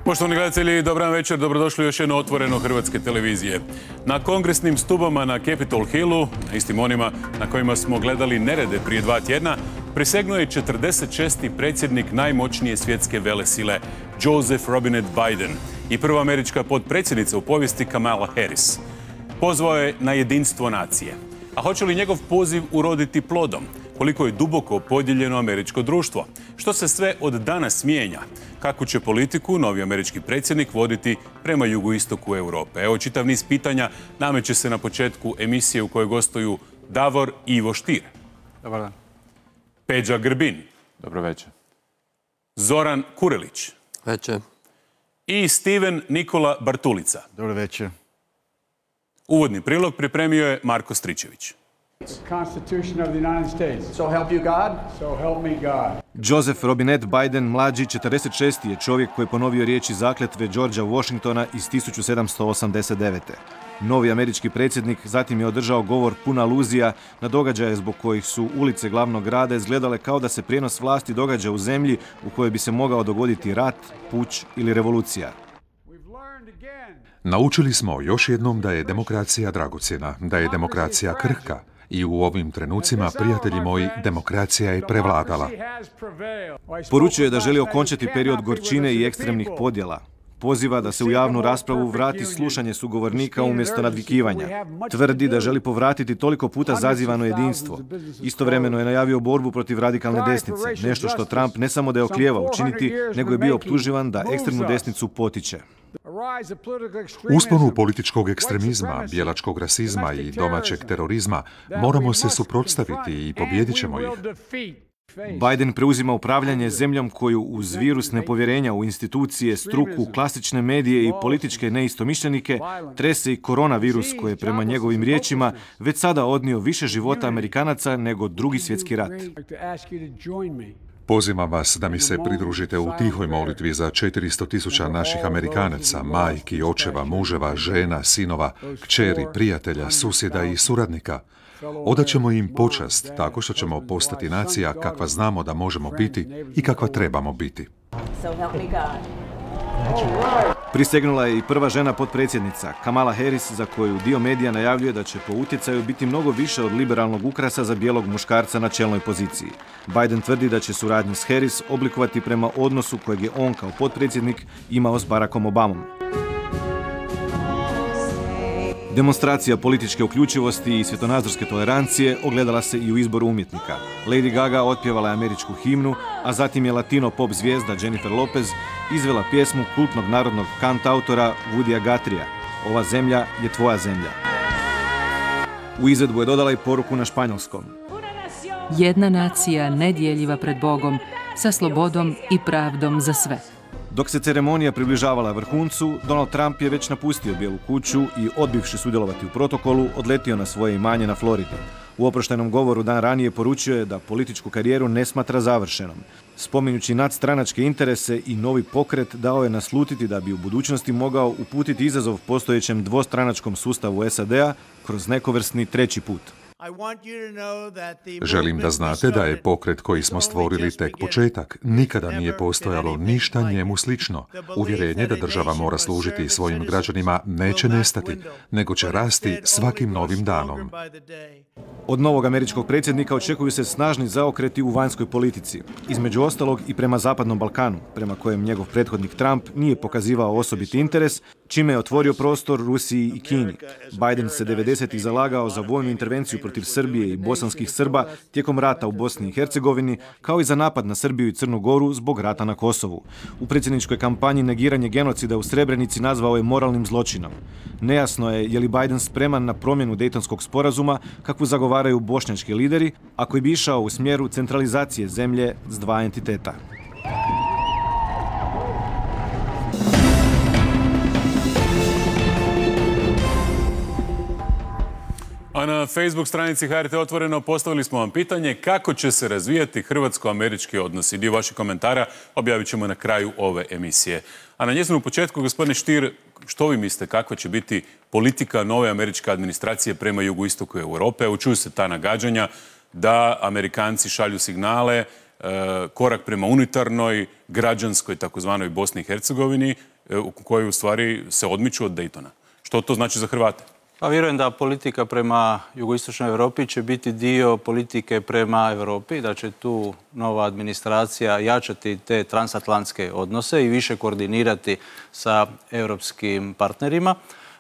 Poštovani gledatelji, dobar večer, dobrodošli u još jedno otvoreno hrvatske televizije. Na kongresnim stubama na Capitol Hillu, na istim onima na kojima smo gledali nerede prije 2 tjedna, prisegnuo je 46. predsjednik najmoćnije svjetske velesile, Joseph Robinette Biden, i prva američka potpredsjednica u povijesti Kamala Harris. Pozvao je na jedinstvo nacije. A hoće li njegov poziv uroditi plodom? Koliko je duboko podijeljeno američko društvo? Što se sve od danas mijenja? Kakvu će politiku novi američki predsjednik voditi prema jugoistoku Europe? Evo, čitav niz pitanja nameće se na početku emisije u kojoj gostuju Davor i Ivo Stier. Dobar dan. Peđa Grbin. Dobro večer. Zoran Kurelić. Večer. I Steven Nikola Bartulica. Dobro večer. Uvodni prilog pripremio je Marko Stričević. Constitution of the United States. So help you God. So help me God. Joseph Robinette Biden, mlađi, 46. je čovjek koji je ponovio riječi zakletve Georgea Washingtona iz 1789. Novi američki predsjednik zatim je održao govor pun aluzija na događaje zbog kojih su ulice glavnog grada izgledale kao da se prijenos vlasti događa u zemlji u kojoj bi se mogao dogoditi rat, puč ili revolucija. Naučili smo još jednom da je demokracija dragocjena, da je demokracija krhka. I u ovim trenucima, prijatelji moji, demokracija je prevladala. Poručuje da želi okončati period gorčine i ekstremnih podjela. Poziva da se u javnu raspravu vrati slušanje sugovornika umjesto nadvikivanja. Tvrdi da želi povratiti toliko puta zazivano jedinstvo. Istovremeno je najavio borbu protiv radikalne desnice, nešto što Trump ne samo da je oklijevao učiniti, nego je bio optuživan da ekstremnu desnicu potiče. Usponu političkog ekstremizma, bijelačkog rasizma i domaćeg terorizma moramo se suprotstaviti i pobijedit ćemo ih. Biden preuzima upravljanje zemljom koju uz virus nepovjerenja u institucije, struku, klasične medije i političke neistomišljenike trese i koronavirus koji je prema njegovim riječima već sada odnio više života Amerikanaca nego Drugi svjetski rat. Pozivam vas da mi se pridružite u tihoj molitvi za 400.000 naših Amerikanaca, majki, očeva, muževa, žena, sinova, kćeri, prijatelja, susjeda i suradnika. Odaćemo im počast tako što ćemo postati nacija kakva znamo da možemo biti i kakva trebamo biti. Prisegnula je i prva žena potpredsjednica, Kamala Harris, za koju dio medija najavljuje da će po utjecaju biti mnogo više od liberalnog ukrasa za bijelog muškarca na čelnoj poziciji. Biden tvrdi da će suradnju s Harris oblikovati prema odnosu kojeg je on kao potpredsjednik imao s Barackom Obamom. Demonstracija političke uključivosti i svjetonazorske tolerancije ogledala se i u izboru umjetnika. Lady Gaga otpjevala je američku himnu, a zatim je latino pop zvijezda Jennifer Lopez izvela pjesmu kultnog narodnog kantautora Woodya Guthrieja "Ova zemlja je tvoja zemlja". U izvedbu je dodala i poruku na španjolskom. Jedna nacija nedjeljiva pred Bogom, sa slobodom i pravdom za sve. Dok se ceremonija približavala vrhuncu, Donald Trump je već napustio Bijelu kuću i, odbivši sudjelovati u protokolu, odletio na svoje imanje na Floridi. U oproštajnom govoru dan ranije poručio je da političku karijeru ne smatra završenom. Spominjući nadstranačke interese i novi pokret, dao je naslutiti da bi u budućnosti mogao uputiti izazov postojećem dvostranačkom sustavu SAD-a kroz nekovrsni treći put. Želim da znate da je pokret koji smo stvorili tek početak. Nikada nije postojalo ništa njemu slično. Uvjerenje da država mora služiti svojim građanima neće nestati, nego će rasti svakim novim danom. Od novog američkog predsjednika očekuju se snažni zaokreti u vanjskoj politici. Između ostalog i prema Zapadnom Balkanu, prema kojem njegov prethodnik Trump nije pokazivao osobiti interes, čime je otvorio prostor Rusiji i Kini. Biden se 90-ih zalagao za vojnu intervenciju protiv Srbije i bosanskih Srba tijekom rata u Bosni i Hercegovini, kao i za napad na Srbiju i Crnu Goru zbog rata na Kosovu. U predsjedničkoj kampanji negiranje genocida u Srebrenici nazvao je moralnim zločinom. Nejasno je li Biden spreman na promjenu Dejtonskog sporazuma, kakvu zagovaraju bošnjački lideri, a koji bi išao u smjeru centralizacije zemlje s dva entiteta. A na Facebook stranici HRT Otvoreno postavili smo vam pitanje kako će se razvijati hrvatsko-američki odnosi. Dio vaših komentara objavit ćemo na kraju ove emisije. A na njezinu početku, gospodine Stier, što vi mislite kakva će biti politika nove američke administracije prema jugoistoku Europe? Čuju se ta nagađanja da Amerikanci šalju signale, korak prema unitarnoj, građanskoj, takozvanoj Bosni i Hercegovini koji u stvari se odmiču od Daytona. Što to znači za Hrvate? Pa vjerujem da politika prema jugoistočnoj Europi će biti dio politike prema Europi, da će tu nova administracija jačati te transatlantske odnose i više koordinirati sa europskim partnerima.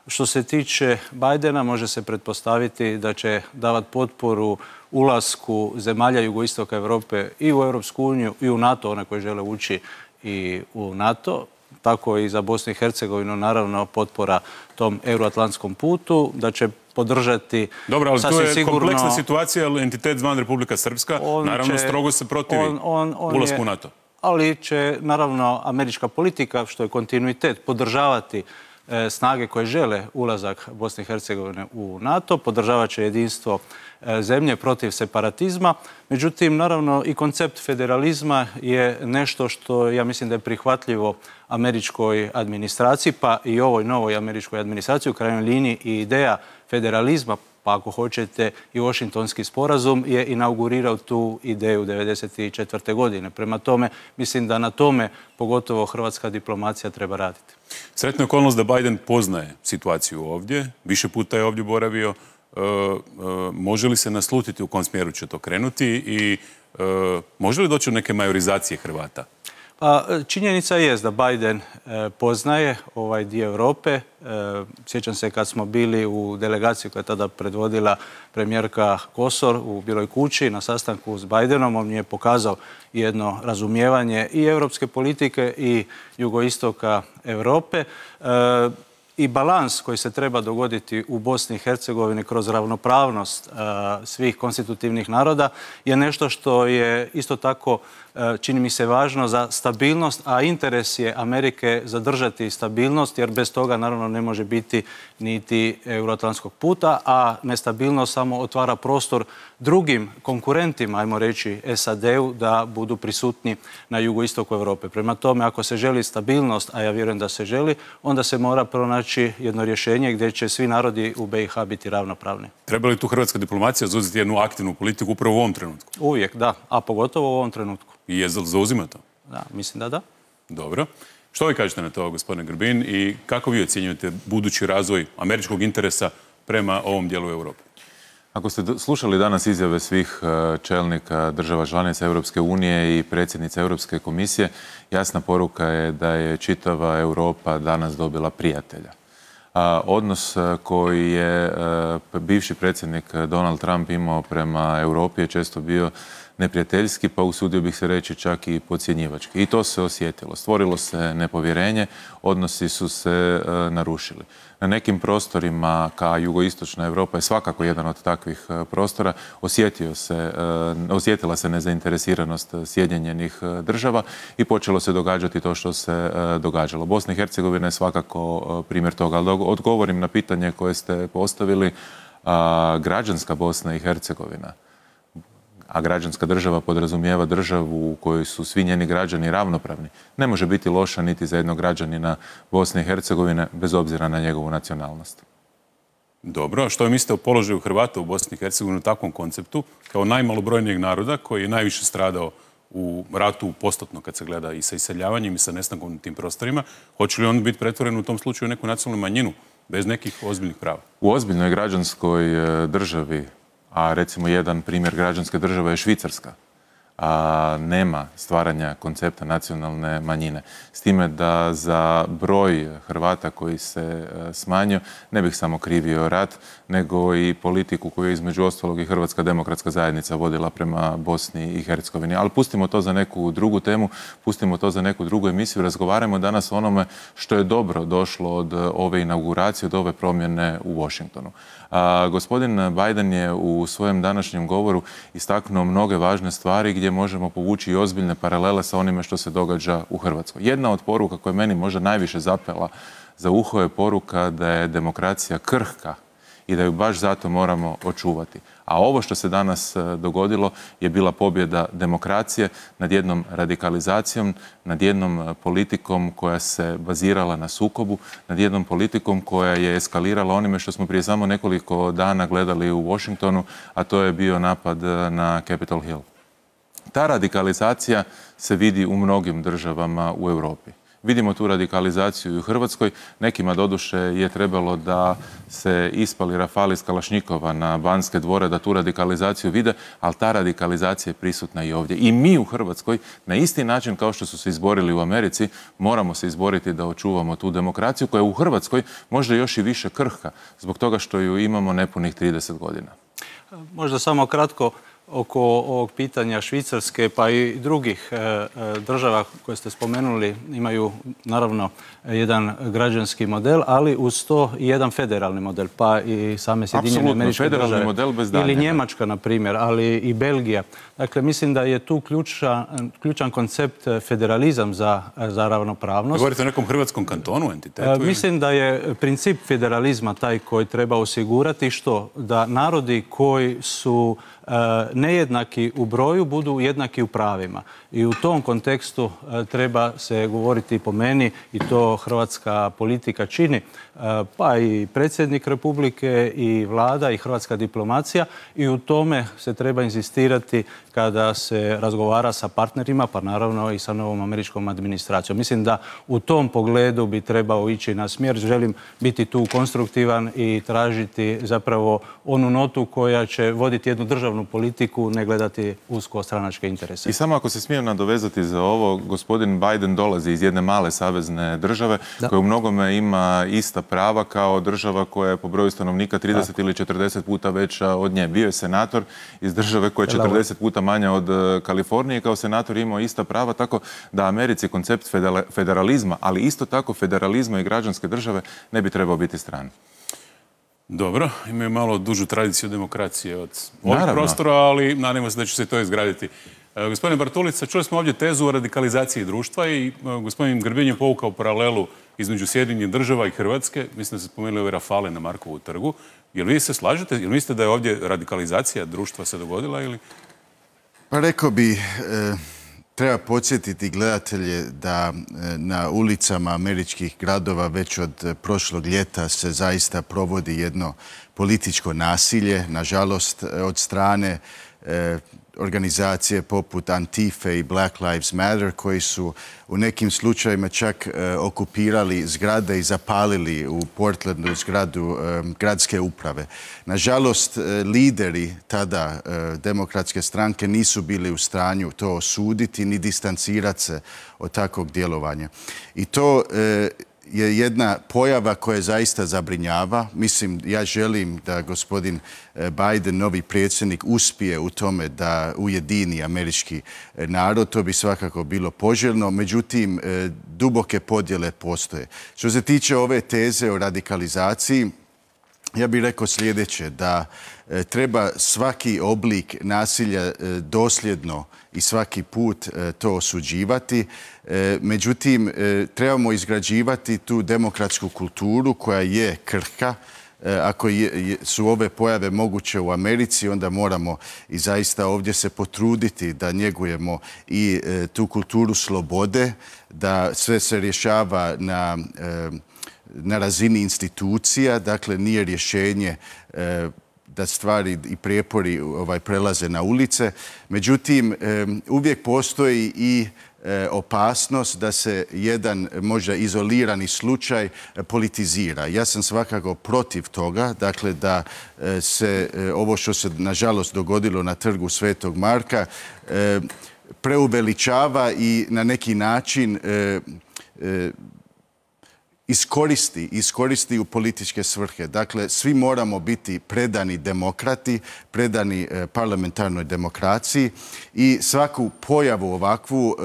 Što se tiče Bidena, može se pretpostaviti da će davati potporu ulasku zemalja jugoistoka Europe i u Europsku uniju i u NATO, one koje žele ući i u NATO. Tako i za Bosnu i Hercegovinu, naravno, potpora tom euroatlantskom putu, da će podržati... Dobro, ali to je kompleksna situacija, ali entitet zvan Republika Srpska, naravno, strogo se protivi ulasku u NATO. Ali će, naravno, američka politika, što je kontinuitet, podržavati snage koje žele ulazak Bosne i Hercegovine u NATO, podržavat će jedinstvo zemlje protiv separatizma. Međutim, naravno, i koncept federalizma je nešto što ja mislim da je prihvatljivo američkoj administraciji, pa i ovoj novoj američkoj administraciji, u krajnjoj liniji i ideja federalizma, pa ako hoćete i Washingtonski sporazum, je inaugurirao tu ideju 1994. godine. Prema tome, mislim da na tome pogotovo hrvatska diplomacija treba raditi. Sretna je okolnost da Biden poznaje situaciju ovdje, više puta je ovdje boravio. Može li se naslutiti u kom smjeru će to krenuti i može li doći do neke majorizacije Hrvata? Pa, činjenica je da Biden poznaje ovaj dio Europe. Sjećam se kad smo bili u delegaciji koja je tada predvodila premijerka Kosor u Bijeloj kući na sastanku s Bidenom. On mi je pokazao jedno razumijevanje i europske politike i jugoistoka Europe. I balans koji se treba dogoditi u Bosni i Hercegovini kroz ravnopravnost svih konstitutivnih naroda je nešto što je isto tako, čini mi se, važno za stabilnost, a interes je Amerike zadržati stabilnost, jer bez toga naravno ne može biti niti euroatlantskog puta, a nestabilnost samo otvara prostor drugim konkurentima, ajmo reći SAD-u, da budu prisutni na jugoistoku Europe. Prema tome, ako se želi stabilnost, a ja vjerujem da se želi, onda se mora pronaći jedno rješenje gdje će svi narodi u BiH biti ravnopravni. Treba li tu hrvatska diplomacija zauzeti jednu aktivnu politiku upravo u ovom trenutku? Uvijek, da, a pogotovo u ovom trenutku. I je zauzima to? Da, mislim da da. Dobro. Što vi kažete na to, gospodine Grbin, i kako vi ocjenjujete budući razvoj američkog interesa prema ovom dijelu Europe? Ako ste slušali danas izjave svih čelnika država članica Europske unije i predsjednice Europske komisije, jasna poruka je da je čitava Europa danas dobila prijatelja. Odnos koji je bivši predsjednik Donald Trump imao prema Europi je često bio neprijateljski, pa usudio bih se reći čak i podcjenjivački. I to se osjetilo. Stvorilo se nepovjerenje, odnosi su se narušili. Na nekim prostorima, ka jugoistočna Europa je svakako jedan od takvih prostora, osjetila se nezainteresiranost Sjedinjenih država i počelo se događati to što se događalo. Bosna i Hercegovina je svakako primjer toga. Ali odgovorim na pitanje koje ste postavili, građanska Bosna i Hercegovina, a građanska država podrazumijeva državu u kojoj su svi njeni građani ravnopravni, ne može biti loša niti za jednog građanina Bosne i Hercegovine, bez obzira na njegovu nacionalnost. Dobro, a što mislite o položaju Hrvata u Bosni i Hercegovini u takvom konceptu, kao najmalobrojnijeg naroda koji je najviše stradao u ratu postotno kad se gleda i sa iseljavanjem i sa nestankom na tim prostorima? Hoće li on biti pretvoren u tom slučaju neku nacionalnu manjinu, bez nekih ozbiljnih prava? U ozbiljnoj građanskoj državi, a recimo jedan primjer građanske države je Švicarska, nema stvaranja koncepta nacionalne manjine. S time da za broj Hrvata koji se smanjio ne bih samo krivio rat, nego i politiku koju je između ostalog i Hrvatska demokratska zajednica vodila prema Bosni i Hercegovini. Ali pustimo to za neku drugu temu, pustimo to za neku drugu emisiju. Razgovarajmo danas o onome što je dobro došlo od ove inauguracije, od ove promjene u Washingtonu. Gospodin Biden je u svojem današnjem govoru istaknuo mnoge važne stvari gdje možemo povući i ozbiljne paralele sa onime što se događa u Hrvatskoj. Jedna od poruka koja je meni možda najviše zapela za uho je poruka da je demokracija krhka i da ju baš zato moramo očuvati. A ovo što se danas dogodilo je bila pobjeda demokracije nad jednom radikalizacijom, nad jednom politikom koja se bazirala na sukobu, nad jednom politikom koja je eskalirala onime što smo prije samo nekoliko dana gledali u Washingtonu, a to je bio napad na Capitol Hill. Ta radikalizacija se vidi u mnogim državama u Europi. Vidimo tu radikalizaciju i u Hrvatskoj. Nekima doduše je trebalo da se ispali rafali iz Kalašnjikova na Banske dvore, da tu radikalizaciju vide, ali ta radikalizacija je prisutna i ovdje. I mi u Hrvatskoj, na isti način kao što su se izborili u Americi, moramo se izboriti da očuvamo tu demokraciju koja je u Hrvatskoj možda još i više krhka, zbog toga što ju imamo nepunih 30 godina. Možda samo kratko oko ovog pitanja Švicarske pa i drugih država koje ste spomenuli imaju naravno jedan građanski model, ali uz to i jedan federalni model, pa i same Sjedinjene Američke Države ili Njemačka na primjer, ali i Belgija. Dakle, mislim da je tu ključan koncept federalizam za ravnopravnost. Govorite o nekom hrvatskom kantonu, entitetu? Mislim da je princip federalizma taj koji treba osigurati što? Da narodi koji su nejednaki u broju budu jednaki u pravima. I u tom kontekstu treba se govoriti po meni, i to hrvatska politika čini, pa i predsjednik Republike i vlada i hrvatska diplomacija, i u tome se treba inzistirati kada se razgovara sa partnerima, pa naravno i sa novom američkom administracijom. Mislim da u tom pogledu bi trebao ići na smjer. Želim biti tu konstruktivan i tražiti zapravo onu notu koja će voditi jednu državnu politiku, ne gledati usko stranačke interese. I samo ako se smijem nadovezati za ovo, gospodin Biden dolazi iz jedne male savezne države koja u mnogome ima ista prava kao država koja je po broju stanovnika 30 ili 40 puta veća od nje. Bio je senator iz države koja je 40 puta manja od Kalifornije, kao senator imao ista prava, tako da Americi koncept federalizma, ali isto tako federalizma i građanske države ne bi trebao biti stran. Dobro, imaju malo dužu tradiciju demokracije od ovih prostora, ali nadamo se da će se to izgraditi. Gospodine Bartulica, čuli smo ovdje tezu o radikalizaciji društva i gospodin Grbin je povukao paralelu između Sjedinjenih Država i Hrvatske. Mislim da ste spomenuli ove rafale na Markovu trgu. Jel vi se slažete? Jel mislite da je ovdje radikalizacija društva se dogodila ili? Pa rekao bi, treba podsjetiti gledatelje da na ulicama američkih gradova već od prošlog ljeta se zaista provodi jedno političko nasilje, nažalost od strane organizacije poput Antife i Black Lives Matter koji su u nekim slučajevima čak okupirali zgrade i zapalili u Portlandu zgradu gradske uprave. Nažalost, lideri tada demokratske stranke nisu bili u stanju to osuditi ni distancirati se od takvog djelovanja. I to je jedna pojava koja zaista zabrinjava. Mislim, ja želim da gospodin Biden, novi predsjednik, uspije u tome da ujedini američki narod. To bi svakako bilo poželjno. Međutim, duboke podjele postoje. Što se tiče ove teze o radikalizaciji, ja bih rekao sljedeće, da treba svaki oblik nasilja dosljedno i svaki put to osuđivati. Međutim, trebamo izgrađivati tu demokratsku kulturu koja je krhka. Ako su ove pojave moguće u Americi, onda moramo i zaista ovdje se potruditi da njegujemo i tu kulturu slobode, da sve se rješava na razini institucija, dakle nije rješenje da stvari i prijepori prelaze na ulice. Međutim, uvijek postoji i opasnost da se jedan možda izolirani slučaj politizira. Ja sam svakako protiv toga, dakle da se ovo što se nažalost dogodilo na trgu Svetog Marka preuveličava i na neki način iskoristi u političke svrhe. Dakle, svi moramo biti predani demokrati, predani parlamentarnoj demokraciji i svaku pojavu ovakvu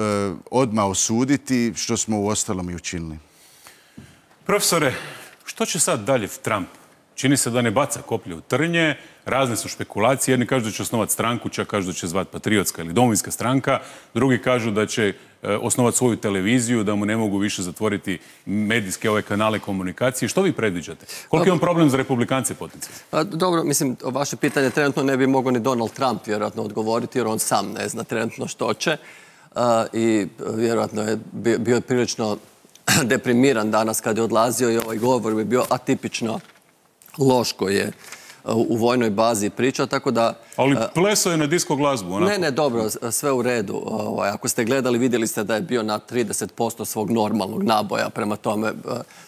odmah osuditi, što smo uostalom i učinili. Profesore, što će sad dalje Trump? Čini se da ne baca koplje u trnje, razne su špekulacije, jedni kažu da će osnovati stranku, čak kažu da će zvati Patriotska ili Domovinska stranka, drugi kažu da će osnovati svoju televiziju, da mu ne mogu više zatvoriti medijske ove kanale komunikacije. Što vi predviđate? Koliko je on problem za republikance potencijalno? Dobro, mislim, o vaše pitanje trenutno ne bi mogao ni Donald Trump vjerojatno odgovoriti, jer on sam ne zna trenutno što će. I vjerojatno je bio prilično deprimiran danas kad je odlazio i ovaj govor bi bio atipično loš koji je u vojnoj bazi pričao, tako da... Ali plesao je na disko glazbu, onako. Ne, dobro, sve u redu. Ako ste gledali, vidjeli ste da je bio na 30% svog normalnog naboja, prema tome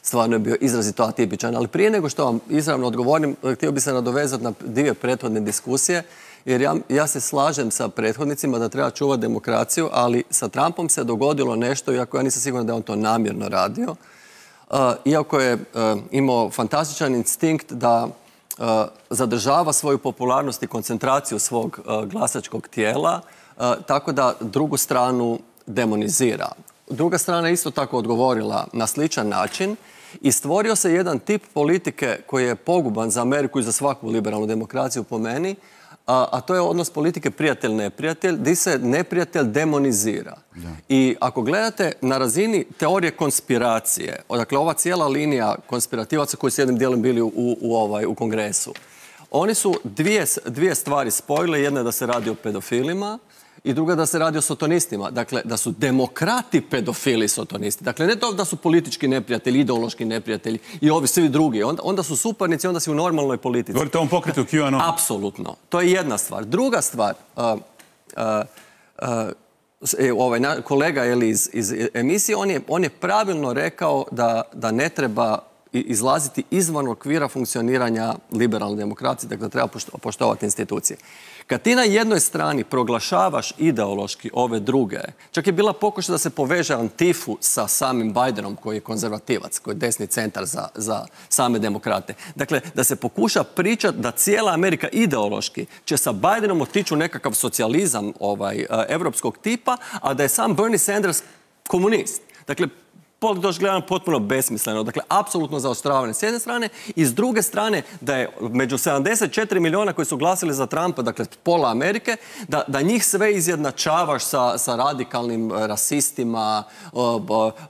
stvarno je bio izrazito atipičan. Ali prije nego što vam izravno odgovorim, htio bi se nadovezati na dvije prethodne diskusije, jer ja se slažem sa prethodnicima da treba čuvati demokraciju, ali sa Trumpom se dogodilo nešto, iako ja nisam siguran da je on to namjerno radio, iako je imao fantastičan instinkt da zadržava svoju popularnost i koncentraciju svog glasačkog tijela, tako da drugu stranu demonizira. Druga strana je isto tako odgovorila na sličan način i stvorio se jedan tip politike koji je poguban za Ameriku i za svaku liberalnu demokraciju po meni, a to je odnos politike prijatelj-neprijatelj, gdje se neprijatelj demonizira. I ako gledate na razini teorije konspiracije, dakle ova cijela linija konspirativaca koji su jednim dijelom bili u Kongresu, oni su dvije stvari spojile. Jedna je da se radi o pedofilima i druga da se radi o sotonistima. Dakle, da su demokrati pedofili sotonisti. Dakle, ne to da su politički neprijatelji, ideološki neprijatelji i ovi svi drugi. Onda su suparnici, onda si u normalnoj politici. Govorite o ovom pokretu QAnon? Apsolutno. To je jedna stvar. Druga stvar, kolega iz emisije, on je pravilno rekao da ne treba izlaziti izvan okvira funkcioniranja liberalne demokracije, dakle da treba poštovati institucije. Kad ti na jednoj strani proglašavaš ideološki ove druge, čak je bila pokušaj da se poveže Antifu sa samim Bidenom, koji je konzervativac, koji je desni centar za same demokrate. Dakle, da se pokuša pričati da cijela Amerika ideološki će sa Bidenom otići u nekakav socijalizam evropskog tipa, a da je sam Bernie Sanders komunist. Dakle, gledano potpuno besmisleno. Dakle, apsolutno zaoštravanje s jedne strane i s druge strane da je među 74 miliona koji su glasili za Trumpa, dakle pola Amerike, da njih sve izjednačavaš sa radikalnim rasistima,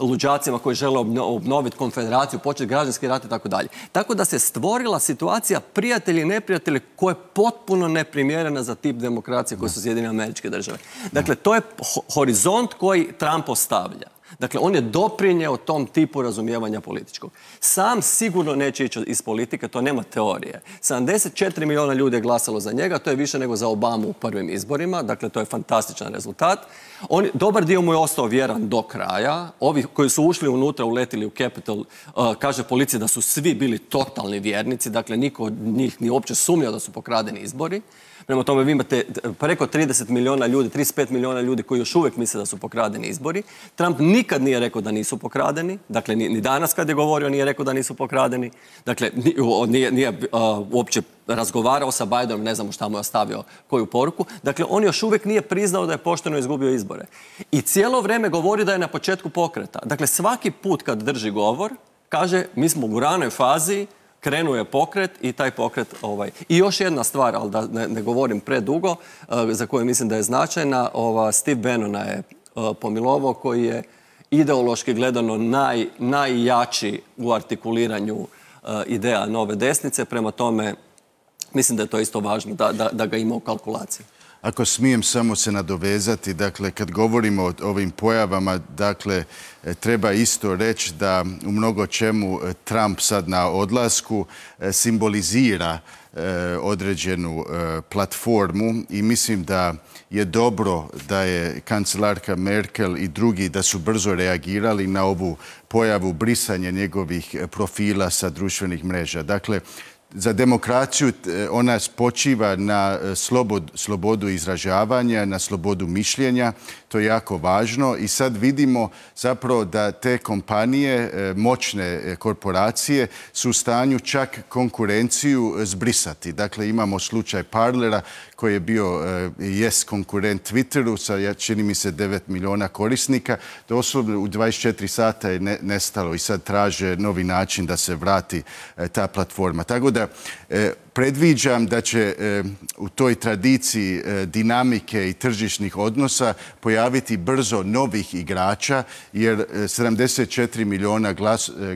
luđacima koji žele obnoviti konfederaciju, početi građanski rat i tako dalje. Tako da se stvorila situacija prijatelji i neprijatelji koja je potpuno neprimjerena za tip demokracije koje su Sjedinjene Američke Države. Dakle, to je horizont koji Trump ostavlja. Dakle, on je doprinjeo tom tipu razumijevanja političkog. Sam sigurno neće ići iz politike, to nema teorije. 74 miliona ljudi je glasalo za njega, to je više nego za Obamu u prvim izborima, dakle to je fantastičan rezultat. Dobar dio mu je ostao vjeran do kraja. Ovi koji su ušli unutra, uletili u Capitol, kaže policija da su svi bili totalni vjernici, dakle niko od njih ni uopće sumnjao da su pokradeni izbori. Prema tome vi imate preko 30 miliona ljudi, 35 miliona ljudi koji još uvijek misle da su pokradeni izbori. Trump nikad nije rekao da nisu pokradeni. Dakle, ni danas kad je govorio nije rekao da nisu pokradeni. Dakle, nije uopće razgovarao sa Bidenom, ne znamo šta mu je ostavio koju poruku. Dakle, on još uvijek nije priznao da je pošteno izgubio izbore. I cijelo vrijeme govori da je na početku pokreta. Dakle, svaki put kad drži govor, kaže mi smo u ranoj fazi, krenuo je pokret i taj pokret... I još jedna stvar, ali da ne govorim predugo, za koju mislim da je značajna, Steve Bannona je pomilovao, koji je ideološki gledano najjači u artikuliranju ideja nove desnice. Prema tome, mislim da je to isto važno, da ga ima u kalkulaciji. Ako smijem samo se nadovezati, dakle, kad govorimo o ovim pojavama, dakle, treba isto reći da u mnogo čemu Trump sad na odlasku simbolizira određenu platformu i mislim da je dobro da je kancelarka Merkel i drugi da su brzo reagirali na ovu pojavu brisanja njegovih profila sa društvenih mreža. Dakle, za demokraciju ona počiva na slobodu izražavanja, na slobodu mišljenja. To je jako važno i sad vidimo zapravo da te kompanije, moćne korporacije su u stanju čak konkurenciju zbrisati. Dakle, imamo slučaj Parlera koji je bio konkurent Twitteru sa, čini mi se, 9 miliona korisnika. Doslovno u 24 sata je nestalo i sad traže novi način da se vrati ta platforma. Tako da predviđam da će u toj tradiciji dinamike i tržišnih odnosa pojaviti brzo novih igrača, jer 74 miliona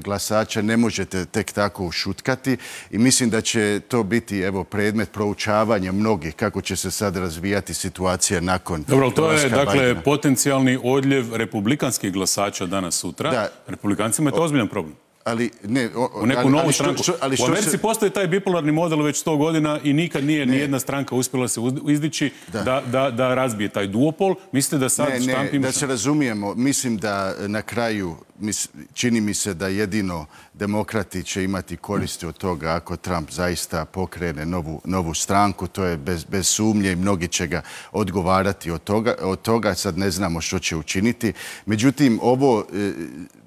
glasača ne možete tek tako ušutkati i mislim da će to biti predmet proučavanja mnogih kako će se sad razvijati situacija nakon... Dobro, to je dakle potencijalni odljev republikanskih glasača danas sutra. Republikancima je to ozbiljan problem. Ali ne, u neku novu stranku. U Americi postoji taj bipolarni model već 100 godina i nikad nije nijedna stranka uspjela se izdići da razbije taj duopol. Mislite da sad štamp ima? Da se razumijemo, mislim da na kraju čini mi se da jedino demokrati će imati koristi od toga ako Trump zaista pokrene novu stranku. To je bez sumnje i mnogi će ga odgovarati od toga. Sad ne znamo što će učiniti. Međutim, ovo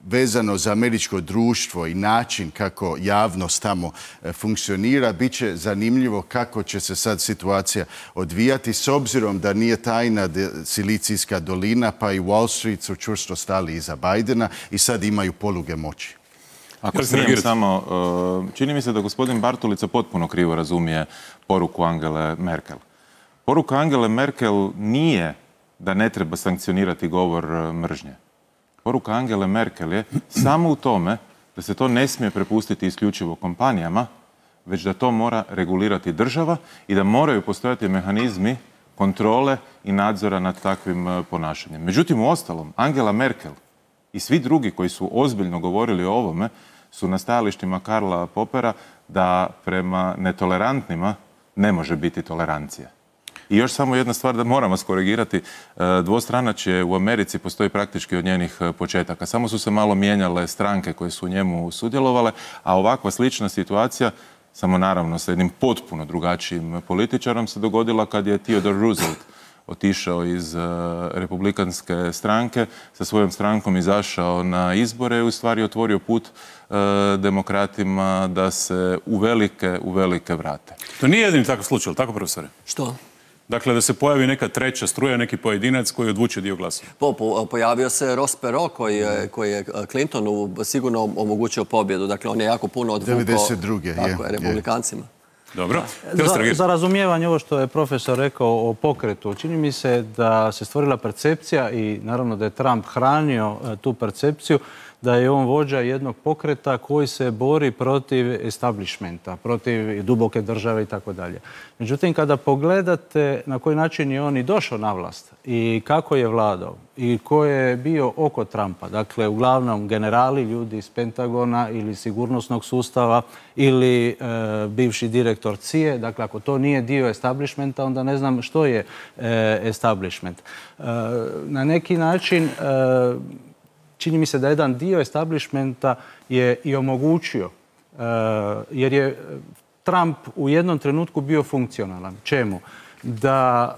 vezano za američko društvo i način kako javnost tamo funkcionira, bit će zanimljivo kako će se sad situacija odvijati, s obzirom da nije tajna Silicijska dolina, pa i Wall Street su čvrsto stali iza Bidena i sad imaju poluge moći. Ako smijem samo, čini mi se da gospodin Bartulica potpuno krivo razumije poruku Angele Merkel. Poruka Angele Merkel nije da ne treba sankcionirati govor mržnje. Poruka Angele Merkel je samo u tome da se to ne smije prepustiti isključivo kompanijama, već da to mora regulirati država i da moraju postojati mehanizmi kontrole i nadzora nad takvim ponašanjem. Međutim, uostalom, Angela Merkel i svi drugi koji su ozbiljno govorili o ovome su na stajalištima Karla Popera da prema netolerantnima ne može biti tolerancije. I još samo jedna stvar da moramo skorigirati. Dvostranačje u Americi postoji praktički od njenih početaka. Samo su se malo mijenjale stranke koje su u njemu sudjelovale, a ovakva slična situacija, samo naravno sa jednim potpuno drugačijim političarom, se dogodila kad je Theodore Roosevelt otišao iz republikanske stranke, sa svojom strankom izašao na izbore i u stvari otvorio put demokratima da se uvelike vrate. To nije jedini takav slučaj, tako profesore? Što? Dakle, da se pojavi neka treća struja, neki pojedinac koji odvuče dio glasova. Pojavio se Ross Perot koji je Clintonu sigurno omogućio pobjedu. Dakle, on je jako puno odvukao 92. republikancima. Dobro. Za razumijevanje ovo što je profesor rekao o pokretu, čini mi se da se stvorila percepcija i naravno da je Trump hranio tu percepciju da je on vođa jednog pokreta koji se bori protiv establishmenta, protiv duboke države i tako dalje. Međutim, kada pogledate na koji način je on i došao na vlast i kako je vladao i ko je bio oko Trumpa, dakle, uglavnom generali, ljudi iz Pentagona ili sigurnosnog sustava ili bivši direktor CIA, dakle, ako to nije dio establishmenta, onda ne znam što je establishment. Na neki način čini mi se da jedan dio establishmenta je i omogućio, jer je Trump u jednom trenutku bio funkcionalan. Čemu? Da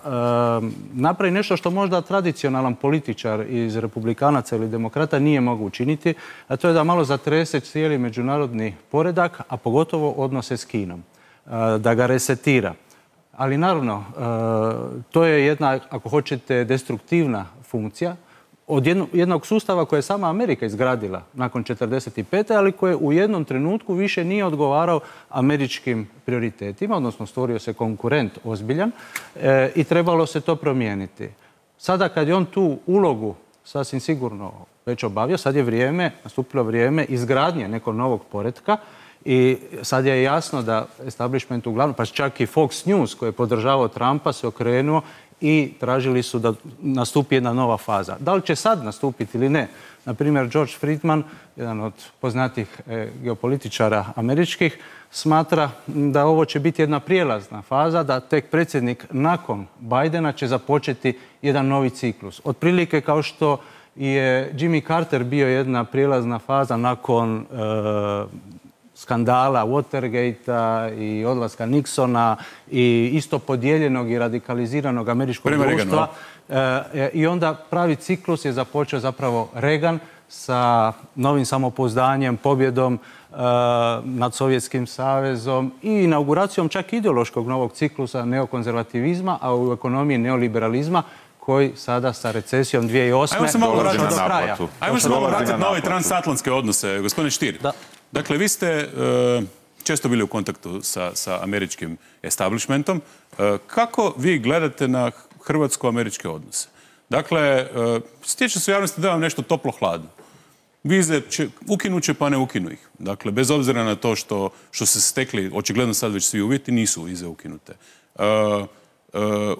napravi nešto što možda tradicionalan političar iz republikanaca ili demokrata nije mogu učiniti, a to je da malo zatrese cijeli međunarodni poredak, a pogotovo odnose s Kinom. Da ga resetira. Ali naravno, to je jedna, ako hoćete, destruktivna funkcija od jednog sustava koje je sama Amerika izgradila nakon 1945. ali koje u jednom trenutku više nije odgovarao američkim prioritetima, odnosno stvorio se konkurent ozbiljan i trebalo se to promijeniti. Sada kad je on tu ulogu sasvim sigurno već obavio, sad je nastupilo vrijeme izgradnje nekog novog poretka i sad je jasno da establishment uglavnom, pa čak i Fox News koji je podržavao Trumpa se okrenuo i tražili su da nastupi jedna nova faza. Da li će sad nastupiti ili ne? Naprimjer, George Friedman, jedan od poznatih geopolitičara američkih, smatra da ovo će biti jedna prijelazna faza, da tek predsjednik nakon Bidena će započeti jedan novi ciklus. Otprilike kao što je Jimmy Carter bio jedna prijelazna faza nakon skandala Watergate-a i odlaska Nixona i isto podijeljenog i radikaliziranog američkog društva. I onda pravi ciklus je započeo zapravo Reagan sa novim samopouzdanjem, pobjedom nad Sovjetskim savezom i inauguracijom čak ideološkog novog ciklusa neokonzervativizma, a u ekonomiji neoliberalizma koji sada sa recesijom 2008. dolazi do kraja. Ajmo se malo vratiti na ove transatlantske odnose. Gospodine Stier, dakle, vi ste često bili u kontaktu sa američkim establishmentom. Kako vi gledate na hrvatsko-američke odnose? Dakle, stječe se u javnosti da vam nešto toplo-hladno. Vize ukinut će pa ne ukinu ih. Dakle, bez obzira na to što se stekli, očigledno sad već svi uvjeti, nisu vize ukinute.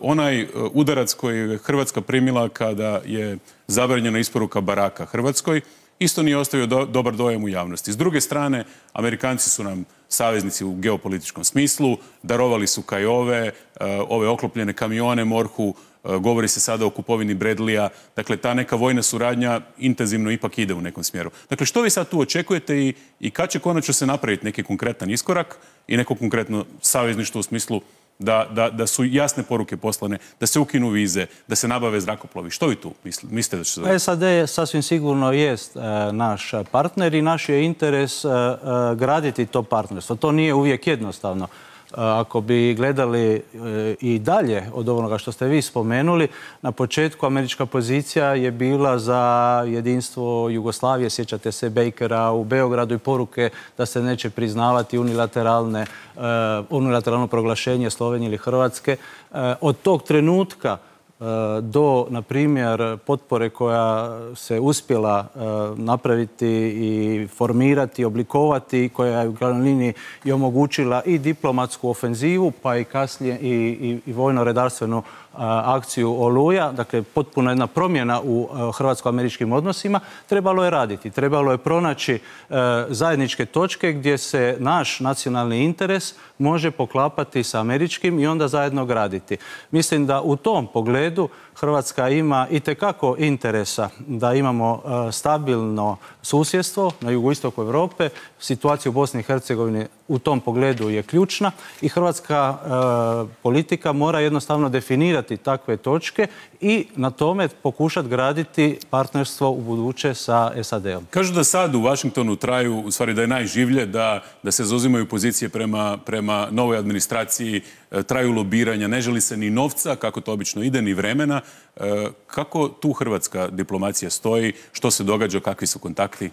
Onaj udarac koji je Hrvatska primila kada je zabranjena isporuka baraka Hrvatskoj isto nije ostavio dobar dojam u javnosti. S druge strane, Amerikanci su nam saveznici u geopolitičkom smislu, darovali su Kajove, ove oklopljene kamione MORH-u, govori se sada o kupovini Bradleya. Dakle, ta neka vojna suradnja intenzivno ipak ide u nekom smjeru. Dakle, što vi sad tu očekujete i kad će konačno se napraviti neki konkretan iskorak i neko konkretno savezništvo u smislu da su jasne poruke poslane, da se ukinu vize, da se nabave zrakoplovi? Što vi tu mislite da će se dogoditi? SAD sasvim sigurno jest naš partner i naš je interes graditi to partnerstvo. To nije uvijek jednostavno. Ako bi gledali i dalje od onoga što ste vi spomenuli, na početku američka pozicija je bila za jedinstvo Jugoslavije. Sjećate se Bakera u Beogradu i poruke da se neće priznavati unilateralno proglašenje Slovenije ili Hrvatske. Od tog trenutka do, na primjer, potpore koja se uspjela napraviti i formirati, oblikovati, koja je u glavnoj liniji i omogućila i diplomatsku ofenzivu, pa i kasnije i vojno-redarstvenu akciju Oluja, dakle potpuno jedna promjena u hrvatsko-američkim odnosima, trebalo je raditi. Trebalo je pronaći zajedničke točke gdje se naš nacionalni interes može poklapati sa američkim i onda zajedno graditi. Mislim da u tom pogledu Hrvatska ima itekako interesa da imamo stabilno susjedstvo na jugoistoku Europe. Situacija u Bosni i Hercegovini u tom pogledu je ključna i hrvatska politika mora jednostavno definirati takve točke i na tome pokušati graditi partnerstvo u buduće sa SAD-om. Kažu da sad u Washingtonu traju, u stvari da je najživlje, da se zauzimaju pozicije prema novoj administraciji, traju lobiranja, ne želi se ni novca, kako to obično ide, ni vremena. Kako tu hrvatska diplomacija stoji? Što se događa? Kakvi su kontakti?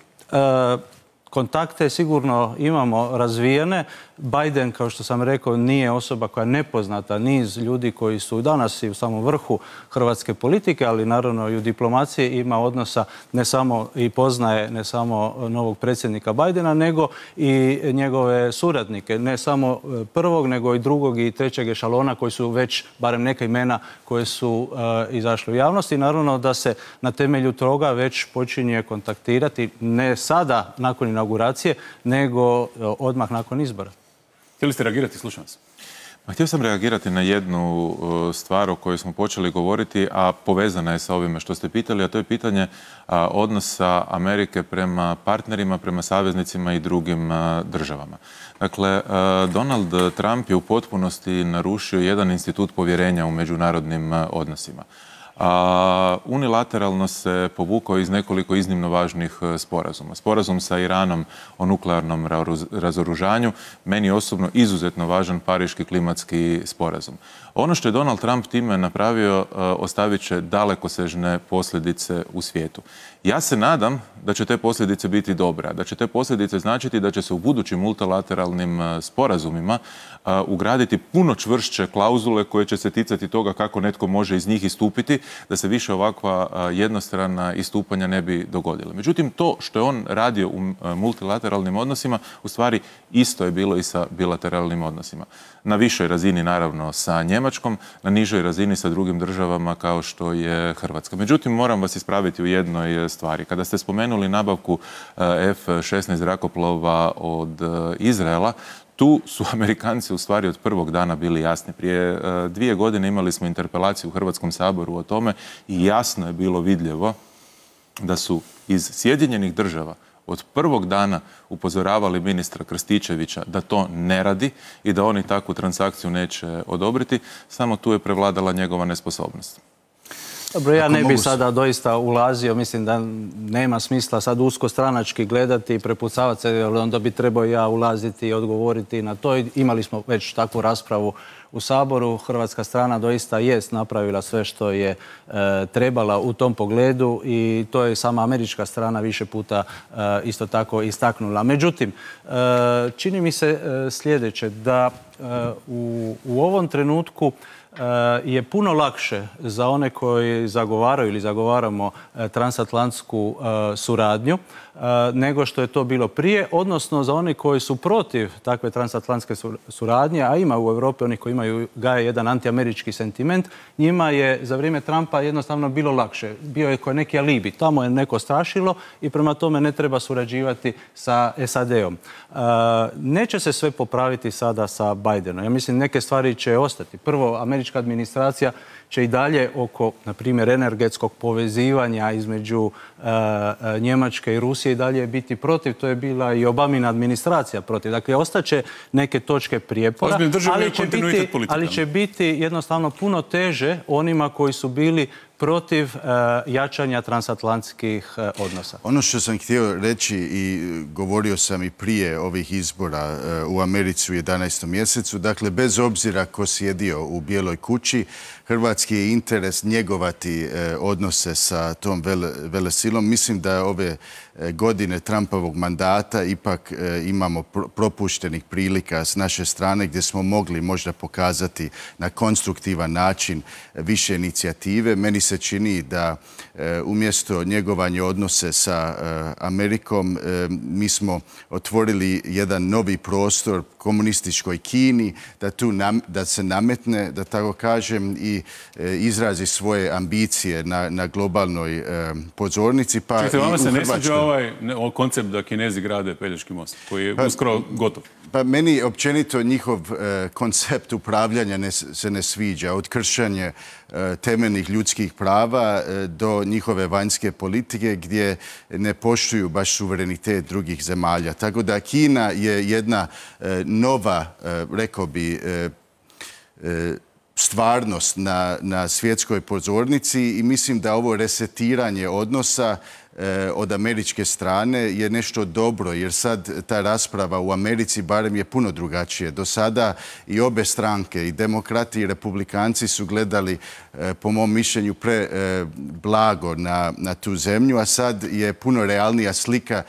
Kontakte sigurno imamo razvijene. Biden, kao što sam rekao, nije osoba koja je nepoznata. Niz ljudi koji su danas i u samom vrhu hrvatske politike, ali naravno i u diplomaciji ima odnosa ne samo i poznaje ne samo novog predsjednika Bidena, nego i njegove suradnike. Ne samo prvog, nego i drugog i trećeg ešalona koji su već, barem neka imena koje su izašle u javnosti. I naravno da se na temelju toga već počinje kontaktirati ne sada nakon inauguracije, nego odmah nakon izbora. Htjeli ste reagirati? Slušam vas. Htio sam reagirati na jednu stvar o kojoj smo počeli govoriti, a povezana je sa ovime što ste pitali, a to je pitanje odnosa Amerike prema partnerima, prema saveznicima i drugim državama. Dakle, Donald Trump je u potpunosti narušio jedan institut povjerenja u međunarodnim odnosima. Unilateralno se povukao iz nekoliko iznimno važnih sporazuma. Sporazum sa Iranom o nuklearnom razoružanju, meni osobno izuzetno važan Pariški klimatski sporazum. Ono što je Donald Trump time napravio ostavit će dalekosežne posljedice u svijetu. Ja se nadam da će te posljedice biti dobre, da će te posljedice značiti da će se u budućim multilateralnim sporazumima ugraditi puno čvršće klauzule koje će se ticati toga kako netko može iz njih istupiti, da se više ovakva jednostrana istupanja ne bi dogodila. Međutim, to što je on radio u multilateralnim odnosima, u stvari isto je bilo i sa bilateralnim odnosima. Na višoj razini, naravno, sa Njemačkom, na nižoj razini sa drugim državama kao što je Hrvatska. Međutim, moram vas ispraviti u jednoj stvari. Kada ste spomenuli nabavku F-16 zrakoplova od Izraela, tu su Amerikanci u stvari od prvog dana bili jasni. Prije 2 godine imali smo interpelaciju u Hrvatskom saboru o tome i jasno je bilo vidljivo da su iz Sjedinjenih Država od prvog dana upozoravali ministra Krstičevića da to ne radi i da oni takvu transakciju neće odobriti, samo tu je prevladala njegova nesposobnost. Dobro, ja ne bih sada doista ulazio, mislim da nema smisla sad usko stranački gledati i prepucavati se, jer onda bi trebao ja ulaziti i odgovoriti na to. Imali smo već takvu raspravu u Saboru. Hrvatska strana doista jest napravila sve što je trebala u tom pogledu i to je sama američka strana više puta isto tako istaknula. Međutim, čini mi se sljedeće, da u ovom trenutku je puno lakše za one koji zagovaraju ili zagovaramo transatlantsku suradnju nego što je to bilo prije, odnosno za one koji su protiv takve transatlantske suradnje, a ima u Europi onih koji gaje jedan antiamerički sentiment, njima je za vrijeme Trumpa jednostavno bilo lakše. Bio je neki alibi. Tamo je neko strašilo i prema tome ne treba surađivati sa SAD-om. Neće se sve popraviti sada sa Bidenom. Ja mislim neke stvari će ostati. Prvo, američka administracija će i dalje oko, na primjer, energetskog povezivanja između Njemačke i Rusije i dalje biti protiv. To je bila i Obamina administracija protiv. Dakle, ostaće neke točke prijepora, ali će biti jednostavno puno teže onima koji su bili protiv jačanja transatlantskih odnosa. Ono što sam htio reći i govorio sam i prije ovih izbora u Americi u 11. mjesecu, dakle, bez obzira ko sjedio u Bijeloj kući, hrvatski je interes njegovati odnose sa tom velesilom. Mislim da ove godine Trumpovog mandata ipak imamo propuštenih prilika s naše strane gdje smo mogli možda pokazati na konstruktivan način više inicijative. Meni se čini da umjesto njegovanja odnose sa Amerikom mi smo otvorili jedan novi prostor komunističkoj Kini da se nametne, da tako kažem, i izrazi svoje ambicije na globalnoj pozornici. Čekajte, vama se ne sviđa ovaj koncept da Kinezi grade Pelješki most, koji je uskoro gotov? Pa meni općenito njihov koncept upravljanja se ne sviđa. Od kršenja temeljnih ljudskih prava do njihove vanjske politike gdje ne poštuju baš suverenitet drugih zemalja. Tako da Kina je jedna nova, rekao bi, stvarnost na svjetskoj pozornici i mislim da ovo resetiranje odnosa od američke strane je nešto dobro, jer sad ta rasprava u Americi barem je puno drugačije. Do sada i obe stranke, i demokrati i republikanci, su gledali, po mom mišljenju, blago na tu zemlju, a sad je puno realnija slika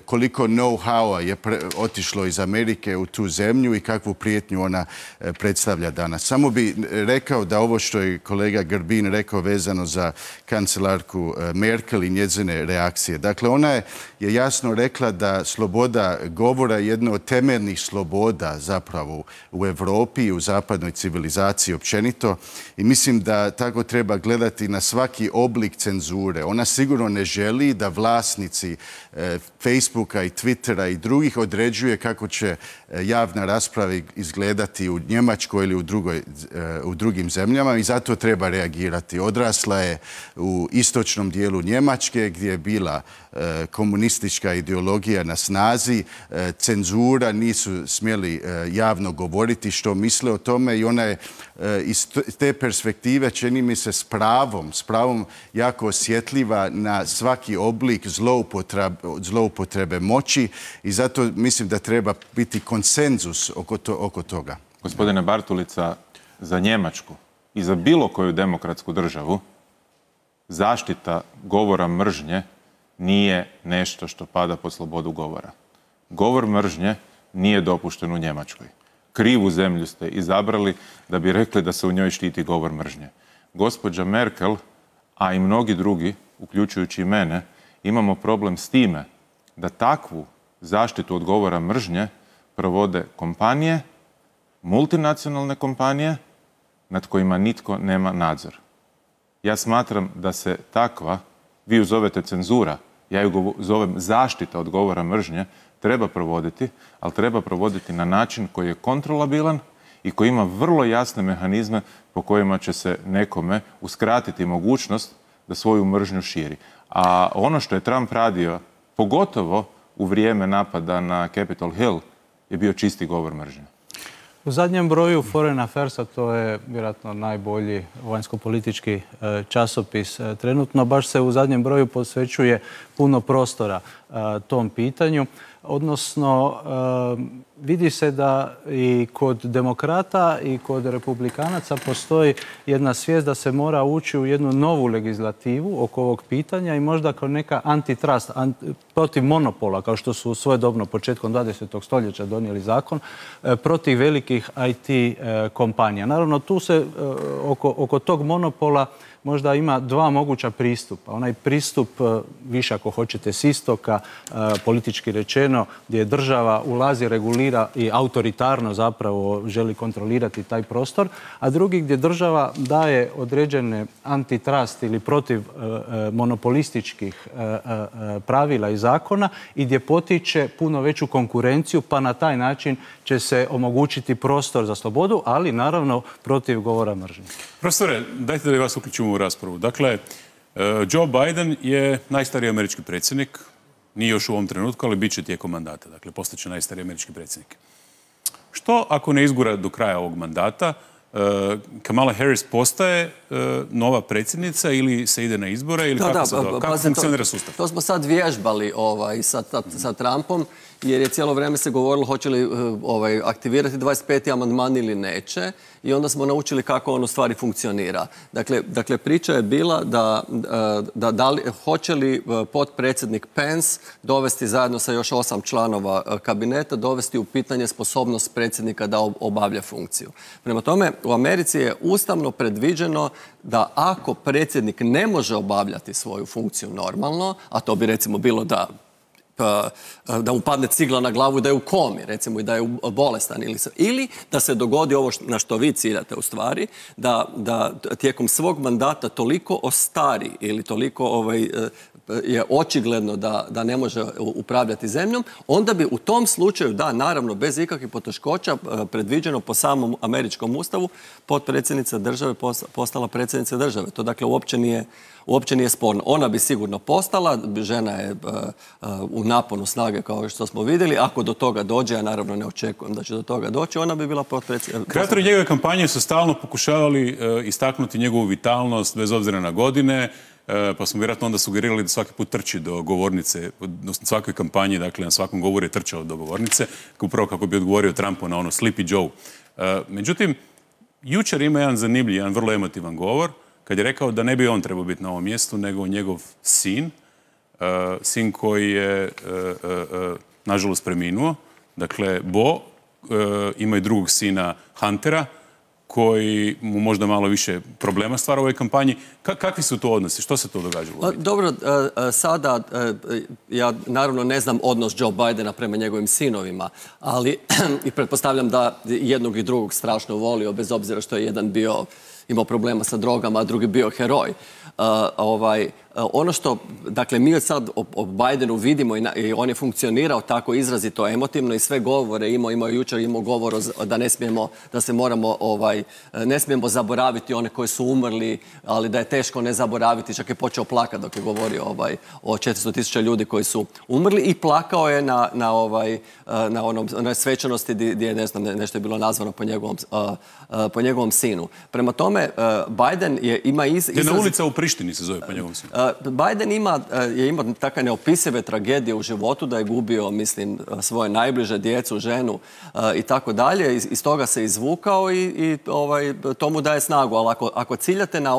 koliko know-howa je otišlo iz Amerike u tu zemlju i kakvu prijetnju ona predstavlja danas. Samo bi rekao da ovo što je kolega Grbin rekao vezano za kancelarku Merkel i njezine reakcije. Dakle, ona je jasno rekla da sloboda govora je jedna od temeljnih sloboda zapravo u Europi i u zapadnoj civilizaciji općenito i mislim da tako treba gledati na svaki oblik cenzure. Ona sigurno ne želi da vlasnici Facebooka i Twittera i drugih određuje kako će javna rasprava izgledati u Njemačkoj ili u drugim zemljama i zato treba reagirati. Odrasla je u istočnom dijelu Njemačke gdje je bila komunistička ideologija na snazi, cenzura, nisu smjeli javno govoriti što misle o tome i ona je iz te perspektive, čini mi se, s pravom jako osjetljiva na svaki oblik zloupotrebe moći i zato mislim da treba biti konsenzus oko toga. Gospodine Bartulica, za Njemačku i za bilo koju demokratsku državu zaštita govora mržnje nije nešto što pada pod slobodu govora. Govor mržnje nije dopušten u Njemačkoj. Krivu zemlju ste izabrali da bi rekli da se u njoj štiti govor mržnje. Gospođa Merkel, a i mnogi drugi, uključujući i mene, imamo problem s time da takvu zaštitu od govora mržnje provode kompanije, multinacionalne kompanije, nad kojima nitko nema nadzor. Ja smatram da se takva, vi ju zovete cenzura, ja ju zovem zaštita od govora mržnje, treba provoditi, ali treba provoditi na način koji je kontrolabilan i koji ima vrlo jasne mehanizme po kojima će se nekome uskratiti mogućnost da svoju mržnju širi. A ono što je Trump radio, pogotovo u vrijeme napada na Capitol Hill, je bio čisti govor mržnje. U zadnjem broju Foreign Affairsa, to je vjerojatno najbolji vanjsko-politički časopis trenutno, baš se u zadnjem broju posvećuje puno prostora tom pitanju. odnosno vidi se da i kod demokrata i kod republikanaca postoji jedna svijest da se mora ući u jednu novu legislativu oko ovog pitanja i možda kao neka antitrust, protiv monopola, kao što su svojedobno početkom 20. stoljeća donijeli zakon, protiv velikih IT kompanija. Naravno, tu se oko tog monopola možda ima dva moguća pristupa. Onaj pristup, više ako hoćete s istoka, politički rečeno, gdje država ulazi, regulira i autoritarno zapravo želi kontrolirati taj prostor, a drugi gdje država daje određene antitrust ili protiv monopolističkih pravila i zakona i gdje potiče puno veću konkurenciju, pa na taj način će se omogućiti prostor za slobodu, ali naravno protiv govora mržnje. Profesore, dajte da vas uključimo u raspravu. Dakle, Joe Biden je najstariji američki predsjednik, nije još u ovom trenutku, ali bit će tijekom mandata. Dakle, postaće najstariji američki predsjednik. Što ako ne izgura do kraja ovog mandata, Kamala Harris postaje nova predsjednica ili se ide na izbore ili kako funkcionira sustav? To smo sad vježbali sa Trumpom, jer je cijelo vrijeme se govorilo hoće li aktivirati 25. amandman ili neće, i onda smo naučili kako on u stvari funkcionira. Dakle, priča je bila da hoće li potpredsjednik Pence dovesti zajedno sa još 8 članova kabineta, dovesti u pitanje sposobnost predsjednika da obavlja funkciju. Prema tome, u Americi je ustavno predviđeno da ako predsjednik ne može obavljati svoju funkciju normalno, a to bi recimo bilo da mu padne cigla na glavu i da je u komi, recimo, i da je bolestan, ili da se dogodi ovo na što vi ciljate u stvari, da tijekom svog mandata toliko ostari ili toliko je očigledno da ne može upravljati zemljom, onda bi u tom slučaju, da, naravno, bez ikakvih poteškoća, predviđeno po samom američkom ustavu, potpredsjednica države postala predsjednica države. To dakle uopće nije sporno. Ona bi sigurno postala, žena je u naponu snage kao što smo vidjeli. Ako do toga dođe, ja naravno ne očekujem da će do toga doći, ona bi bila potpredsjednica. Kreatori njegove kampanje su stalno pokušavali istaknuti njegovu vitalnost bez obzira na godine, pa smo vjerojatno onda sugerirali da svaki put trči do govornice, odnosno svakoj kampanji, dakle na svakom govoru je trčao do govornice, upravo kako bi odgovorio Trumpu na ono Sleepy Joe. Međutim, jučer ima jedan zanimljiv, jedan vrlo emotivan govor, kad je rekao da ne bi on trebao biti na ovom mjestu, nego njegov sin, sin koji je, nažalost, preminuo. Dakle, Bo ima i drugog sina Huntera, koji mu možda malo više problema stvara u ovoj kampanji. Kakvi su to odnosi? Što se to događalo? Dobro, sada ja naravno ne znam odnos Joe Bidena prema njegovim sinovima, ali i pretpostavljam da jednog i drugog strašno volio, bez obzira što je jedan imao problema sa drogama, a drugi bio heroj. Ono što, dakle, mi sad o Bidenu vidimo i on je funkcionirao tako izrazito emotivno i sve govore imao jučer govor da ne smijemo, da se moramo, ne smijemo zaboraviti one koji su umrli, ali da je teško ne zaboraviti, čak je počeo plakati dok je govorio o 400.000 ljudi koji su umrli i plakao je na onoj svečanosti gdje je, ne znam, nešto je bilo nazvano po njegovom sinu. Prema tome, Biden ima Jedna ulica u Prištini se zove po njegovom sinu. Biden je imao takve neopisive tragedije u životu, da je gubio, mislim, svoje najbliže, djecu, ženu i tako dalje. Iz toga se izvukao i to mu daje snagu. Ali ako ciljate na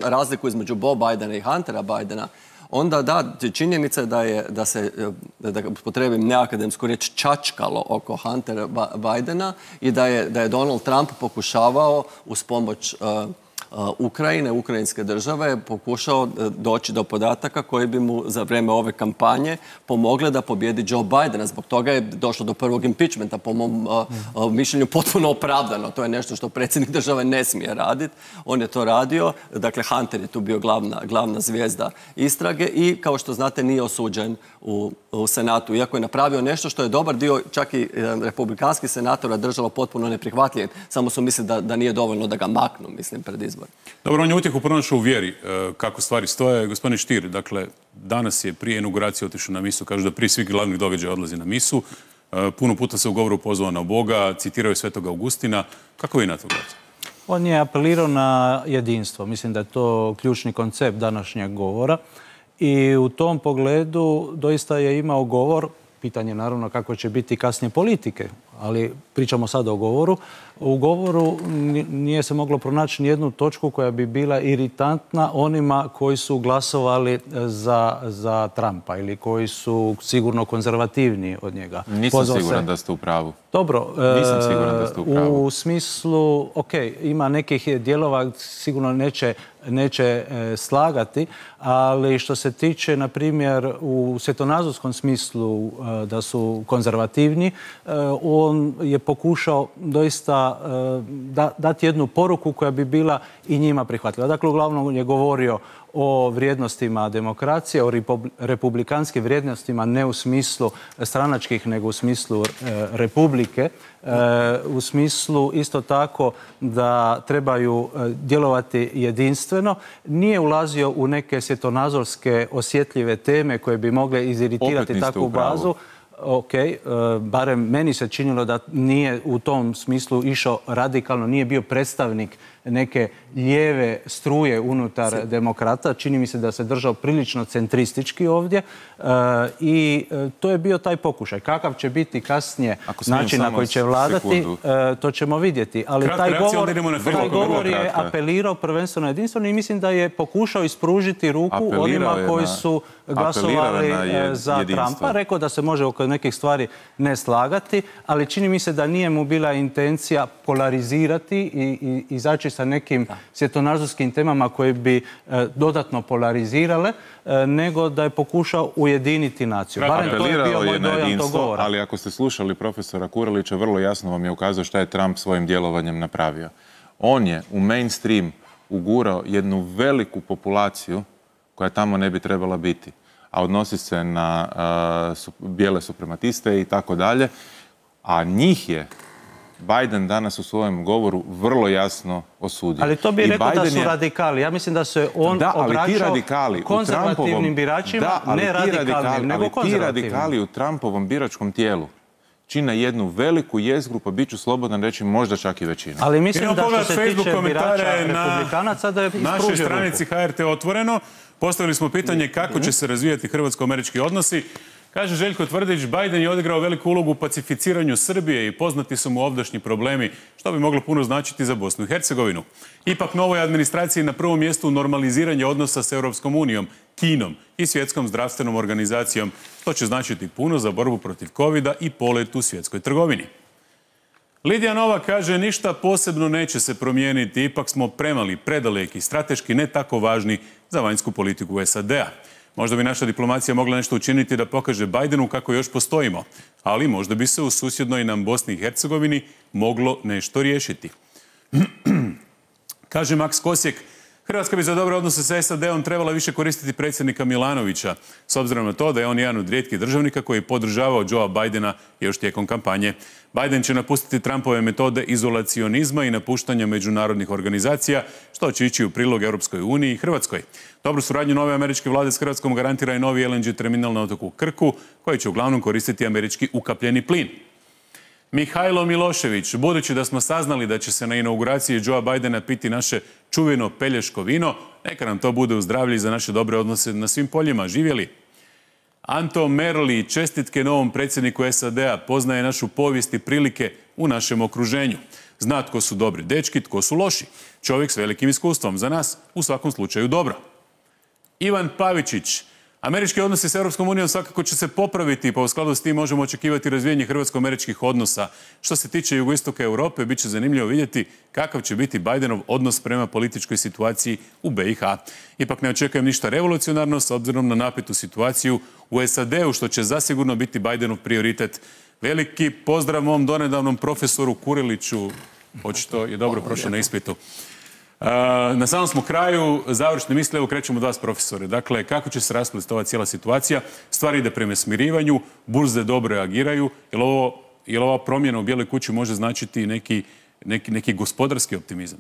razliku između Bo Bidena i Huntera Bidena, onda da, činjenica je da se, da potrebim neakademsku riječ, čačkalo oko Huntera Bidena i da je Donald Trump pokušavao uz pomoć Ukrajine, ukrajinske države, pokušao doći do podataka koji bi mu za vrijeme ove kampanje pomogle da pobjedi Joe Bidena. Zbog toga je došlo do prvog impeachmenta, po mom mišljenju potpuno opravdano. To je nešto što predsjednik države ne smije raditi. On je to radio. Dakle, Hunter je tu bio glavna zvijezda istrage i, kao što znate, nije osuđen u Senatu. Iako je napravio nešto što je dobar dio, čak i republikanskih senatora, držalo potpuno neprihvatljiv. Samo su mislili da nije dovoljno da ga maknu, mislim, pred izbor. Dobro, on je utjehu pronašao u vjeri kako stvari stoje. Gospodin Stier, dakle, danas je prije inauguracije otišao na misu, kažu da prije svih glavnih događaja odlazi na misu. Puno puta se u govoru pozvao na Boga, citirao je Svetog Augustina. Kako vi na to gledate? On je apelirao na jedinstvo. Mislim da je to ključni koncept današnjeg govora. I u tom pogledu doista je imao govor pitanje naravno kako će biti kasnije politike, ali pričamo sad o govoru. U govoru nije se moglo pronaći nijednu točku koja bi bila iritantna onima koji su glasovali za Trumpa ili koji su sigurno konzervativniji od njega. Nisam siguran da ste u pravu. Dobro, nisam siguran da ste u pravu. U smislu, ima nekih dijelova sigurno neće slagati, ali što se tiče, na primjer, u svjetonazorskom smislu da su konzervativni, on je pokušao doista dati jednu poruku koja bi bila i njima prihvatljiva. Dakle, uglavnom je govorio o vrijednostima demokracije, o republikanskim vrijednostima, ne u smislu stranačkih, nego u smislu republike, u smislu isto tako da trebaju djelovati jedinstveno. Nije ulazio u neke svjetonazorske osjetljive teme koje bi mogle iziritirati takvu bazu. Barem meni se činilo da nije u tom smislu išao radikalno, nije bio predstavnik neke lijeve struje unutar demokrata. Čini mi se da se držao prilično centristički ovdje i to je bio taj pokušaj. Kakav će biti kasnije način na koji će vladati, to ćemo vidjeti. Ali taj govor je apelirao prvenstveno jedinstveno i mislim da je pokušao ispružiti ruku onima koji su glasovali za Trumpa. Rekao da se može oko nekih stvari ne slagati, ali čini mi se da nije mu bila intencija polarizirati i izaći sa nekim svjetonazorskim temama koje bi dodatno polarizirale, nego da je pokušao ujediniti naciju. Apelirao je na jedinstvo, ali ako ste slušali profesora Kurelića, vrlo jasno vam je ukazao šta je Trump svojim djelovanjem napravio. On je u mainstream ugurao jednu veliku populaciju koja tamo ne bi trebala biti, a odnosi se na bijele suprematiste i tako dalje, a njih je Biden danas u svojem govoru vrlo jasno osudio. Ali to bi rekao da su radikali. Ja mislim da se on obraćao konzervativnim biračima, ne radikalnim, nego konzervativnim. Ali ti radikali u Trumpovom biračkom tijelu čine jednu veliku jezgru, pa bit ću slobodan reći možda čak i većinu. Ali mislim da što se tiče birača republikanaca da je ispružio ruku. Na našoj stranici HRT Otvoreno postavili smo pitanje kako će se razvijati hrvatsko-američki odnosi. Kaže Željko Tvrdić, Biden je odigrao veliku ulogu u pacificiranju Srbije i poznati su mu ovdašnji problemi, što bi moglo puno značiti za Bosnu i Hercegovinu. Ipak novoj administraciji na prvom mjestu normaliziranje odnosa s Europskom unijom, Kinom i Svjetskom zdravstvenom organizacijom, što će značiti puno za borbu protiv covida i polet u svjetskoj trgovini. Lidija Nova kaže, ništa posebno neće se promijeniti, ipak smo premali, predaleki, strateški ne tako važni za vanjsku politiku SAD-a. Možda bi naša diplomacija mogla nešto učiniti da pokaže Bidenu kako još postojimo, ali možda bi se u susjednoj nam Bosni i Hercegovini moglo nešto riješiti. Kaže Maks Kosjek, Hrvatska bi za dobre odnose sa SAD-om trebala više koristiti predsjednika Milanovića, s obzirom na to da je on jedan od rijetkih državnika koji je podržavao Joea Bidena još tijekom kampanje. Biden će napustiti Trumpove metode izolacionizma i napuštanja međunarodnih organizacija, što će ići u prilog Europskoj uniji i Hrvatskoj. Dobru suradnju nove američke vlade s Hrvatskom garantira i novi LNG terminal na otoku Krku, koji će uglavnom koristiti američki ukapljeni plin. Mihajlo Milošević, budući da smo saznali da će se na inauguraciji Joea Bidena piti naše čuveno pelješko vino, neka nam to bude u zdravlje i za naše dobre odnose na svim poljima. Živjeli! Anto Merli, čestitke novom predsjedniku SAD-a, poznaje našu povijest i prilike u našem okruženju. Zna tko su dobri dečki, tko su loši. Čovjek s velikim iskustvom, za nas u svakom slučaju dobro. Ivan Pavičić, američki odnosi s Europskom unijom svakako će se popraviti, pa u skladu s tim možemo očekivati razvijanje hrvatsko-američkih odnosa. Što se tiče jugoistoka Europe, bit će zanimljivo vidjeti kakav će biti Bidenov odnos prema političkoj situaciji u BiH. Ipak ne očekujem ništa revolucionarno s obzirom na napetu situaciju u SAD-u, što će zasigurno biti Bidenov prioritet. Veliki pozdrav mom donedavnom profesoru Kureliću, očito je dobro prošao na ispitu. Na samom smo kraju, završne misle, evo krećemo od vas, profesore. Dakle, kako će se rasplesti ova cijela situacija? Stvari ide prema smirivanju, burze dobro reagiraju. Je li ova promjena u Bijeloj kući može značiti neki gospodarski optimizam?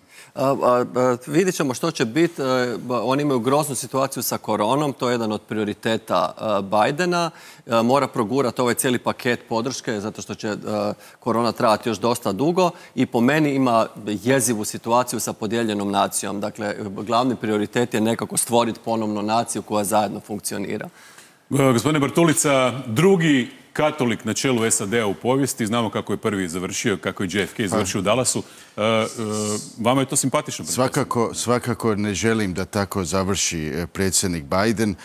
Vidjet ćemo što će biti. Oni imaju groznu situaciju sa koronom, to je jedan od prioriteta Bidena. Mora progurati ovaj cijeli paket podrške, zato što će korona trajati još dosta dugo i po meni ima jezivu situaciju sa podijeljenom nacijom. Dakle, glavni prioritet je nekako stvoriti ponovno naciju koja zajedno funkcionira. Gospodine Bartulica, drugi katolik na čelu SAD-a u povijesti. Znamo kako je prvi završio, kako je JFK završio u Dallasu. Vama je to simpatično? Svakako ne želim da tako završi predsjednik Biden.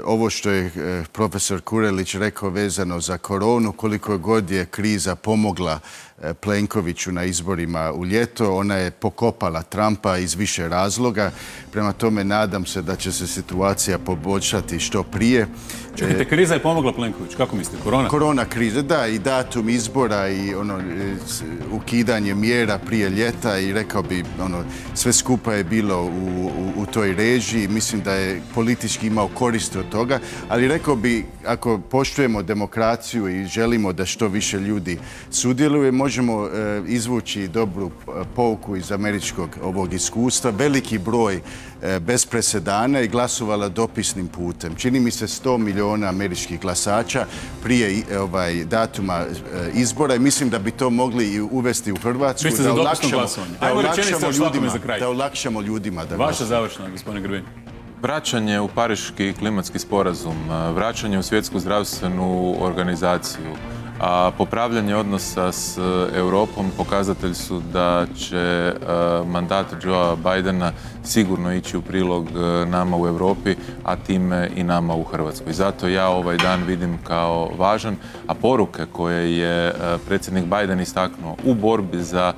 Ovo što je profesor Kurelić rekao vezano za koronu, koliko god je kriza pomogla Plenkoviću na izborima u ljeto, ona je pokopala Trumpa iz više razloga. Prema tome nadam se da će se situacija poboljšati što prije. Čekajte, kriza je pomogla Plenkoviću. Kako mislite, korona? Korona kriza, da, i datum izbora i ukidanje mjera prije ljeta i rekao bi, sve skupa je bilo u toj režiji. Mislim da je politički imao koristi od toga, ali rekao bi, ako poštujemo demokraciju i želimo da što više ljudi sudjeluje, možemo izvući dobru pouku iz američkog ovog iskustva. Veliki broj bez presedana i glasovala dopisnim putem. Čini mi se 100 milijuna američkih glasača prije datuma izbora i mislim da bi to mogli i uvesti u Hrvatsku. Biste za dopisno glasovanje? Ajmo rečenica o svakome za kraj. Da olakšamo ljudima da glasuju. Vaša završna, gospodine Grbin. Vraćanje u Pariški klimatski sporazum, vraćanje u Svjetsku zdravstvenu organizaciju, a popravljanje odnosa s Europom pokazatelj su da će mandat Joea Bidena sigurno ići u prilog nama u Europi, a time i nama u Hrvatskoj. Zato ja ovaj dan vidim kao važan, a poruke koje je predsjednik Biden istaknuo u borbi za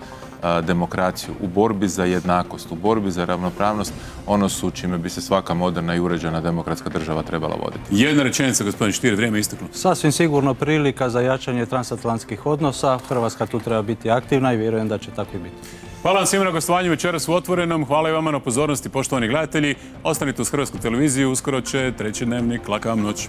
demokraciju, u borbi za jednakost, u borbi za ravnopravnost, ono su čime bi se svaka moderna i uređena demokratska država trebala voditi. Jedna rečenica, gospodin Stier, vrijeme isteklo. Sasvim sigurno prilika za jačanje transatlantskih odnosa. Hrvatska tu treba biti aktivna i vjerujem da će tako i biti. Hvala vam svima na gostovanju večeras u Otvorenom. Hvala i vama na pozornosti, poštovani gledatelji. Ostanite uz Hrvatsku televiziju, uskoro će treći dnevnik. Laka vam noć.